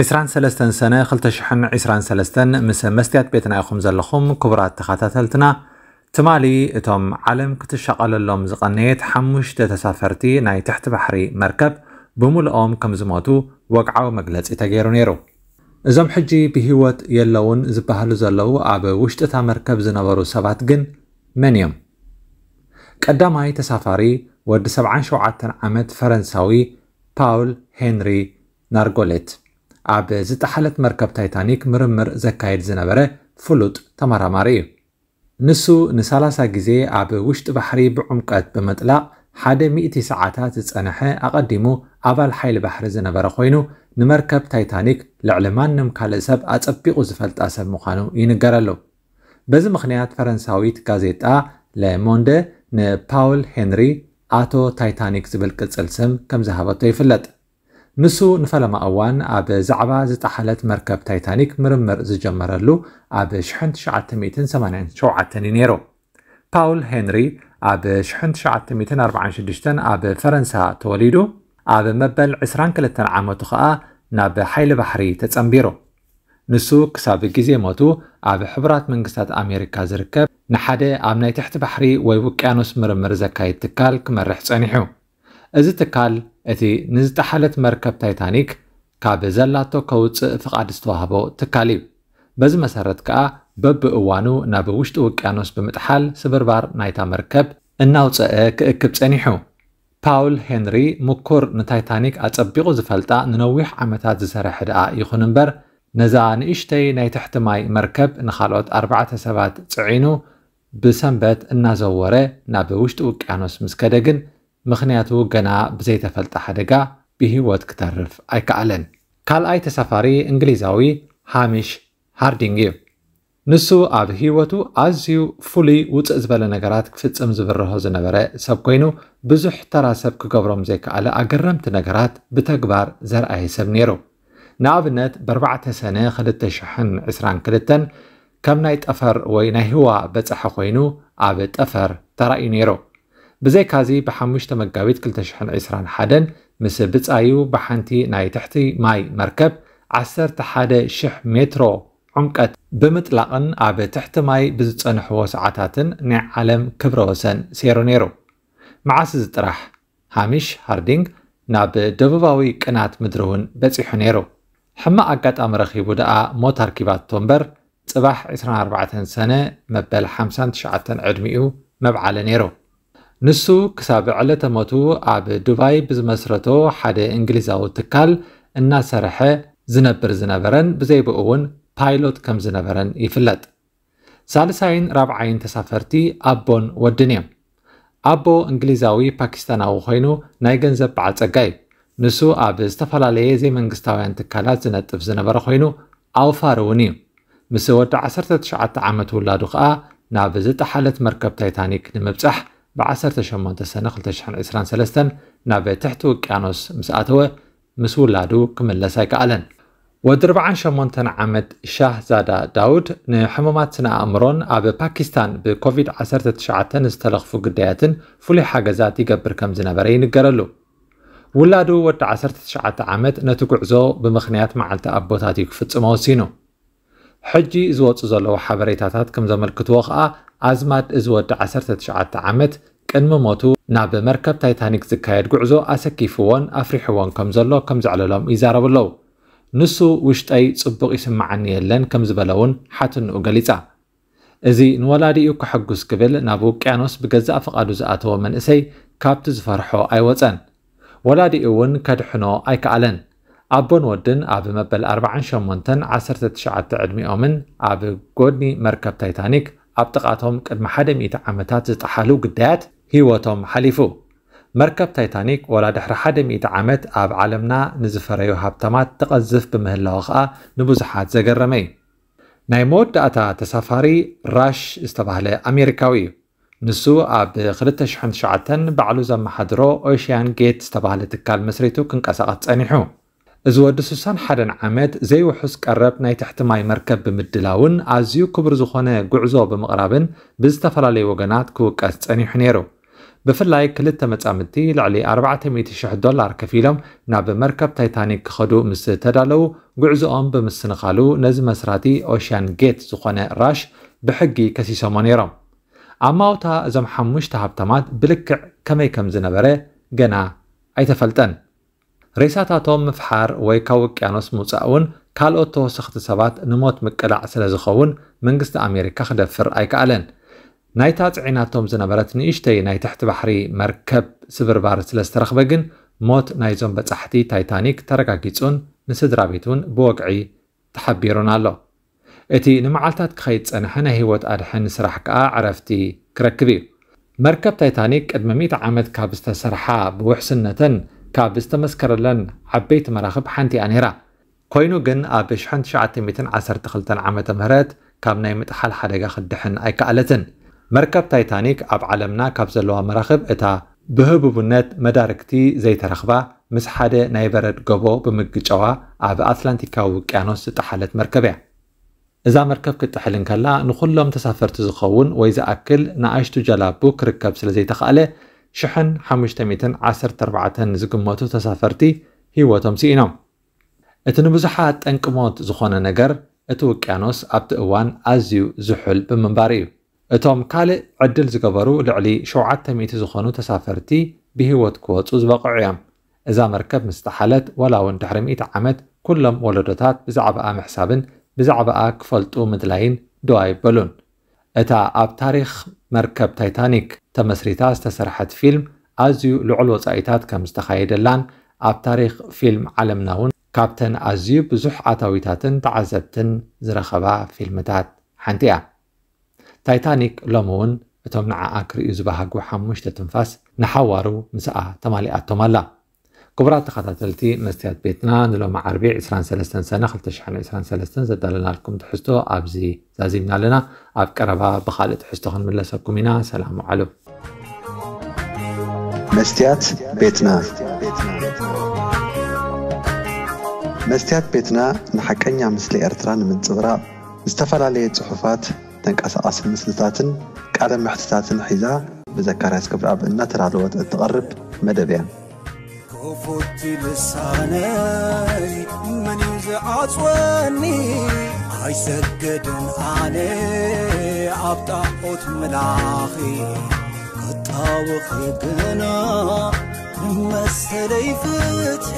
ዕስራን ሰለስተን ሰነ ክልተ ሽሕን ዕስራን ሰለስተን ምስ መስትያት ቤትና ኢኹም ዘለኹም ክቡራት ተኸታተልትና። ትማሊ እቶም ዓለም ክትሻቐለሎም ዝቐነየት ሓሙሽተ ተሳፈርቲ ናይ ትሕቲ ባሕሪ መርከብ ብምልኦም ከም ዝሞቱ ወግዓዊ መግለጺ ተገይሩ ነይሩ። እዞም ሕጂ ብህይወት የለውን ዝበሃሉ ዘለዉ ኣብ ውሽጢ እታ መርከብ ዝነበሩ ሰባት ግን መን እዮም? ቀዳማይ ተሳፋሪ ወዲ ሰብዓን ሸውዓተን ዓመት ፈረንሳዊ ፓውል ሄንሪ ናርጎሌት ኣብ ዝጠሓለት መርከብ ታይታኒክ ምርምር ዘካየድ ዝነበረ ፍሉጥ ተመራማሪ እዩ። ንሱ ንሳላሳ ግዜ ኣብ ውሽጢ ባሕሪ ብዕምቀት ብምጥላቕ ሓደ ሚእቲ ሰዓታት ዝጸንሐ ኣቐዲሙ ኣባል ሓይሊ ባሕሪ ዝነበረ ኮይኑ ንመርከብ ታይታኒክ ልዕሊ ማንም ካልእ ሰብ ኣጸቢቑ ዝፈልጣ ሰብ ምዃኑ ይንገረሉ። በዚ ምኽንያት ፈረንሳዊት ጋዜጣ ለሞንደ ንፓውል ሄንሪ ኣቶ ታይታኒክ ዝብል ቅጽል ስም ከም ዝሃበቶ ይፍለጥ። ንሱ ንፈለማ እዋን ኣብ ዛዕባ ዝጠሓለት መርከብ ታይታኒክ ምርምር ዝጀመረሉ ኣብ ሽሕን ትሽዓተ ሚእትን ሰማንያን ሸውዓተን እዩ ነይሩ። ፓውል ሄንሪ ኣብ ሽሕን ትሽዓተ ሚእትን ኣርባዓን ሽዱሽተን ኣብ ፈረንሳ ተወሊዱ፣ ኣብ መበል ዕስራን ክልተን ዓመቱ ኸኣ ናብ ሓይሊ ባሕሪ ተጸንቢሩ። ንሱ ክሳብ ግዜ ሞቱ ኣብ ሕቡራት መንግስታት ኣሜሪካ ዝርከብ ንሓደ ኣብ ናይ ትሕቲ ባሕሪ ወይ ውቅያኖስ ምርምር ዘካይድ ትካል ክመርሕ ጸኒሑ። እዚ ትካል እቲ ንዝጠሓለት መርከብ ታይታኒክ ካብ ዘላቶ ከውጽእ ፍቓድ ዝተዋህቦ ትካል እዩ። በዚ መሰረት ከኣ በብእዋኑ ናብ ውሽጢ ውቅያኖስ ብምጥሓል ስብርባር ናይታ መርከብ እናውጸአ ክእክብ ጸኒሑ። ፓውል ሄንሪ ምኩር ንታይታኒክ ኣጸቢቑ ዝፈልጣ ንነዊሕ ዓመታት ዝሰርሐ ደኣ ይኹን እምበር ነዛ ንእሽተይ ናይ ትሕቲ ማይ መርከብ ንኻልኦት ኣርባዕተ ሰባት ጽዒኑ ብሰንበት እናዘወረ ናብ ውሽጢ ውቅያኖስ ምስ ከደ ግን ምኽንያቱ ገና ብዘይተፈልጠ ሓደጋ ብህይወት ክተርፍ ኣይከኣለን። ካልኣይ ተሳፋሪ እንግሊዛዊ ሃሚሽ ሃርዲንግ እዩ። ንሱ ኣብ ህይወቱ ኣዝዩ ፍሉይ ውፅእ ዝበለ ነገራት ክፍጽም ዝብርሆ ዝነበረ ሰብ ኮይኑ ብዙሕ ተራ ሰብ ክገብሮም ዘይከኣለ ኣገረምቲ ነገራት ብተግባር ዘርኣየ ሰብ ነይሩ። ንኣብነት ብኣርባዕተ ሰነ ክልተ ሽሕን ዕስራን ክልተን ከም ናይ ጠፈር ወይ ናይ ህዋ በጻሒ ኮይኑ ኣብ ጠፈር ተራእዩ ነይሩ። ብዘይካዚ ብሓሙሽተ መጋቢት ክልተ ሽሕን ዕስራን ሓደን ምስ ብጻዩ ብሓንቲ ናይ ትሕቲ ማይ መርከብ ዓሰርተ ሓደ ሽሕ ሜትሮ ዕምቀት ብምጥላቕን ኣብ ትሕቲ ማይ ብዝጸንሕዎ ሰዓታትን ናይ ዓለም ክብረ ወሰን ሴሩ ነይሩ። መዓስ እዚ ጥራሕ ሃሚሽ ሃርዲንግ ናብ ደቡባዊ ቅናት ምድሪ እውን በጺሑ ነይሩ። ሕማቕ ኣጋጣሚ ረኺቡ ደኣ ሞት ኣርኪባቶ እምበር ጽባሕ ዕስራን ኣርባዕተን ሰነ መበል ሓምሳን ትሽዓተን ዕድሚኡ መብዓለ ነይሩ። ንሱ ክሳብ ዕለተ ሞቱ ኣብ ዱባይ ብዝመስረቶ ሓደ እንግሊዛዊ ትካል እናሰርሐ ዝነብር ዝነበረን ብዘይብኡ እውን ፓይሎት ከም ዝነበረን ይፍለጥ። ሳልሳይን ራብዓይን ተሳፈርቲ ኣቦን ወድን እዮም። ኣቦ እንግሊዛዊ ፓኪስታናዊ ኮይኑ ናይ ገንዘብ በዓል ጸጋ እዩ። ንሱ ኣብ ዝተፈላለየ ዘይመንግስታውያን ትካላት ዝነጥፍ ዝነበረ ኮይኑ ኣውፋር እውን እዩ። ምስ ወዲ ዓሰርተ ትሽዓተ ዓመት ውላዱ ከኣ ናብ ዝጠሓለት መርከብ ታይታኒክ ንምብጻሕ ብ ዓሰርተ ሸሞንተ ሰነ ክልተ ሽሕን ዕስራን ሰለስተን ናብ ትሕቲ ውቅያኖስ ምስ ኣተወ ምስ ውላዱ ክምለስ ኣይከኣለን። ወዲ ኣርባዓን ሸሞንተን ዓመት ሻህዛዳ ዳውድ ንሕሙማት ስነ ኣእምሮን ኣብ ፓኪስታን ብኮቪድ ዓሰርተ ትሽዓተ ንዝተለኽፉ ግዳያትን ፍሉይ ሓገዛት ይገብር ከም ዝነበረ ይንገረሉ። ውላዱ ወዲ ዓሰርተ ትሽዓተ ዓመት ነቲ ጉዕዞ ብምኽንያት መዓልቲ ኣቦታት እዩ ክፍጽሞ ወሲኑ። ሕጂ ዝወጹ ዘለዉ ሓበሬታታት ከም ዘመልክትዎ ከኣ ኣዝማድ እዚ ወዲ ዓሰርተ ትሽዓተ ዓመት ቅድሚ ሞቱ ናብ መርከብ ታይታኒክ ዝካየድ ጉዕዞ ኣሰኪፍዎን ኣፍሪሕዎን ከም ዘሎ ከም ዘዕለሎም ይዛረቡ ኣለዉ። ንሱ ውሽጠይ ጽቡቕ ይስምዓኒ የለን ከም ዝበለ እውን ሓትንኡ ገሊጻ። እዚ ንወላዲኡ ከሐጉስ ክብል ናብ ውቅያኖስ ብገዛእ ፍቓዱ ዝኣተወ መንእሰይ ካብቲ ዝፈርሖ ኣይወጸን። ወላዲኡ እውን ከድሕኖ ኣይከኣለን። ኣቦን ወድን ኣብ መበል ኣርባዓን ሸሞንተን ዓሰርተ ትሽዓተ ዕድሚኦምን ኣብ ጎድኒ መርከብ ታይታኒክ ኣብ ጥቓቶም ቅድሚ ሓደ ሚእቲ ዓመታት ዝጠሓሉ ግዳያት ህይወቶም ሓሊፉ። መርከብ ታይታኒክ ወላ ድሕሪ ሓደ ሚእቲ ዓመት ኣብ ዓለምና ንዝፈረዩ ሃብታማት ትቐዝፍ ብምህላዋ ኸኣ ንብዙሓት ዘገረመ እዩ። ናይ መወዳእታ ተሳፋሪ ራሽ ዝተባህለ ኣሜሪካዊ እዩ። ንሱ ኣብ ክልተ ሽሕን ትሽዓተን ባዕሉ ዘመሓድሮ ኦሽያን ጌት ዝተባህለ ትካል መስሪቱ ክንቀሳቐስ ጸኒሑ። እዚ ወዲ ስሳን ሓደን ዓመት ዘይውሑስ ቀረብ ናይ ትሕቲ ማይ መርከብ ብምድላውን ኣዝዩ ክቡር ዝኾነ ጉዕዞ ብምቕራብን ብዝተፈላለዩ ወገናት ክውቀስ ጸኒሑ ነይሩ። ብፍላይ ክልተ መጻምድቲ ልዕሊ ኣርባዕተ ሚእቲ ሽሕ ዶላር ከፊሎም ናብ መርከብ ታይታኒክ ክኸዱ ምስ ተዳለዉ፣ ጉዕዞኦም ብምስንኻሉ ነዚ መስራቲ ኦሽያን ጌት ዝኾነ ራሽ ብሕጊ ከሲሶሞ ነይሮም። ኣማውታ እዞም ሓሙሽተ ሃብታማት ብልክዕ ከመይ ከም ዝነበረ ገና ኣይተፈልጠን። ሬሳታቶም ምፍሓር ወይ ካብ ውቅያኖስ ምውጻእ እውን ካልኦት ተወሰኽቲ ሰባት ንሞት ምቅላዕ ስለ ዝኸውን መንግስቲ ኣሜሪካ ክደፍር ኣይከኣለን። ናይታ ጽዒናቶም ዝነበረት ንእሽተይ ናይ ትሕቲ ባሕሪ መርከብ ስብርባር ስለ ዝተረኽበ ግን ሞት ናይዞም በጻሕቲ ታይታኒክ ተረጋጊጹን ንስድራ ቤት እውን ብወግዒ ተሓቢሩን ኣሎ። እቲ ንመዓልታት ክኸይድ ዝጸንሐ ናይ ህይወት ኣድሕን ስራሕ ከኣ ዕረፍቲ ክረክብ እዩ። መርከብ ታይታኒክ ቅድሚ ሚእቲ ዓመት ካብ ዝተሰርሓ ብውሕስነተን ካብ ዝተመስከረለን ዓበይቲ መራኽብ ሓንቲ እያ ነይራ። ኮይኑ ግን ኣብ ሽሕን ትሽዓተ ሚእትን ዓሰርተ ክልተን ዓመተ ምህረት ካብ ናይ ምጥሓል ሓደጋ ክትድሕን ኣይከኣለትን። መርከብ ታይታኒክ ኣብ ዓለምና ካብ ዘለዋ መራኽብ እታ ብህቡብነት መዳርግቲ ዘይተረኽባ፣ ምስ ሓደ ናይ በረድ ጎቦ ብምግጫዋ ኣብ ኣትላንቲካዊ ውቅያኖስ ዝጠሓለት መርከብ እያ። እዛ መርከብ ክትጥሕል እንከላ ንኹሎም ተሳፈርቲ ዝኸውን ወይ ዝኣክል ንኣሽቱ ጀላቡ ክርከብ ስለ ዘይተኻእለ ሽሕን ሓሙሽተ ሚእትን ዓሰርተ ኣርባዕተን ዝግመቱ ተሳፈርቲ ህይወቶም ስኢኖም። እቲ ንብዙሓት ጠንቂ ሞት ዝኾነ ነገር እቲ ውቅያኖስ ኣብቲ እዋን ኣዝዩ ዝሑል ብምንባሩ እዩ። እቶም ካልእ ዕድል ዝገበሩ ልዕሊ ሸውዓተ ሚእቲ ዝኾኑ ተሳፈርቲ ብህይወት ክወጹ ዝበቕዑ እዮም። እዛ መርከብ ምስ ጠሓለት ዋላ እውን ድሕሪ ሚእቲ ዓመት ኩሎም ወለዶታት ብዛዕባኣ ምሕሳብን ብዛዕባኣ ክፈልጡ ምድላይን ደው ኣይበሉን። እታ ኣብ ታሪኽ መርከብ ታይታኒክ ተመስሪታ ዝተሰርሐት ፊልም ኣዝዩ ልዑል ወጻኢታት ከም ዝተኻየደላን ኣብ ታሪኽ ፊልም ዓለምና እውን ካብተን ኣዝዩ ብዙሕ ኣታዊታትን ተዓዘብትን ዝረኸባ ፊልምታት ሓንቲ እያ። ታይታኒክ ሎሚ እውን እቶም ንዓኣ ክርእዩ ዝበሃጉ ሓሙሽተ ትንፋስ ንሓዋሩ ምስኣ ተማሊኣቶም ኣላ። ክቡራት ተኸታተልቲ መስትያት ቤትና ንሎሚ ዓርቢ ዕስራን ሰለስተን ሰነ ክልተ ሽሕን ዕስራን ሰለስተን ዘዳለናልኩም ትሕዝቶ ኣብዚ ዛዚምና ኣለና። ኣብ ቀረባ ብኻልእ ትሕዝቶ ክንምለሰኩም ኢና። ሰላም ውዓሉ። መስትያት ቤትና። መስትያት ቤትና ንሓቀኛ ምስሊ ኤርትራ ንምንጽብራቕ ዝተፈላለየ ጽሑፋት፣ ተንቀሳቓሲ ምስልታትን ቃለ መሕትታትን ሒዛ ብዘካርያስ ክብረኣብ እናተዳለወት እትቐርብ መደብ እያ። ክፉት ልሳነይ መን እዩ ዝዓጽወኒ? ኣይሰግድን ኣነ ኣብ ጣዖት ምላኺ። ክጣወኺ ግና መሰለይ ፍትሒ